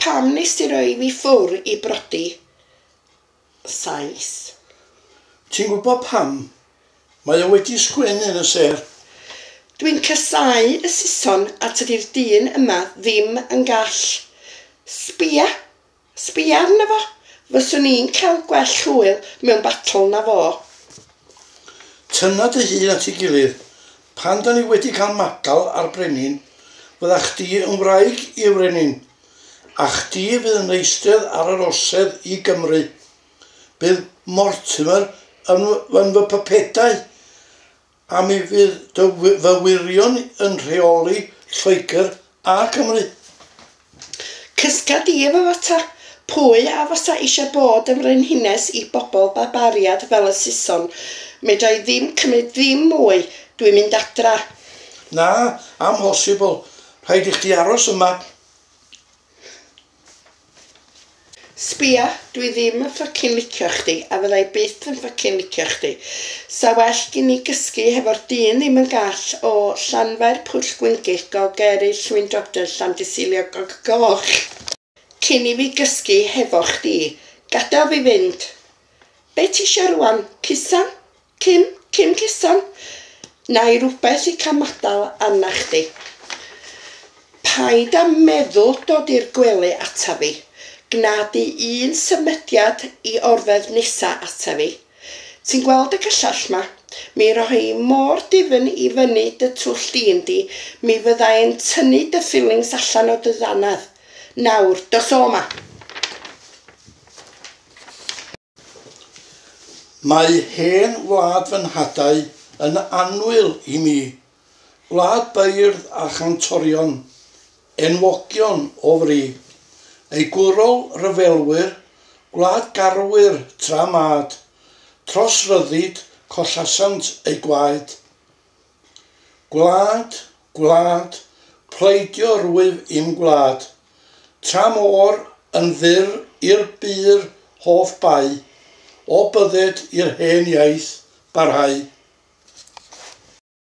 Pam nes di roi fi ffwr i brodi Sais? Ti'n gwybod pam? Mae o wedi sgwennu yn y sêr. Dwi'n casáu y Saeson a tydi'r dyn yma ddim yn gall. Sbia! Sbia arno fo! Fyswn i'n cael gwell hwyl mewn battle na fo. Tynna dy hun at ei gilydd. Pan da ni wedi cael madal a'r brenin, fydda chdi yn wraig i'r frenin, a chdi fydd yn eistedd ar yr orsedd i Gymru. Bydd Mortimer yn yn fy pypedau, a mi fydd dy fy wyrion yn rheoli Lloegr a Cymru. Cysga di efo fo ta. Pwy a fysa eisiau bod yn frenhines i bobl barbariad fel y Saeson? Medra i ddim cymryd ddim mwy. Dwi'n mynd adra. Na, amhosibl. Rhaid i chdi aros yma. Sbia, dwi ddim yn ffycin licio chdi, a fydda i byth yn ffycin licio chdi. Sa well gin i gysgu hefo'r dyn ddim yn gall o Llanfair Pwll Gwyngyll Golgery Llwyndodr Llandysilio Gog Goch cyn i fi gysgu hefo chdi. Gadael fi fynd. Be ti isio rwan? Cusan? Cym? Cym cusan? Na i rywbeth i cael madal arna chdi. Paid â meddwl dod i'r gwely ata fi. Gna di un symudiad i orfedd nesa ata fi. Ti'n gweld y cyllell 'ma? Mi roi hi mor difn i fyny dy twll din di, mi fydda i'n tynnu dy fillings allan o dy ddannedd. Nawr, dos o 'ma! Mae hen wlad fy nhadau yn annwyl i mi, gwlad beirdd a chantorion, enwogion o fri, ei gwrol ryfelwyr, gwlad garwyr tra mad, tros ryddid collasant eu gwaed. Gwlad, gwlad, pleidio rwyf i'm gwlad, Tra môr yn fyr i'r bur hoff bau, O bydded i'r hen iaith barhau.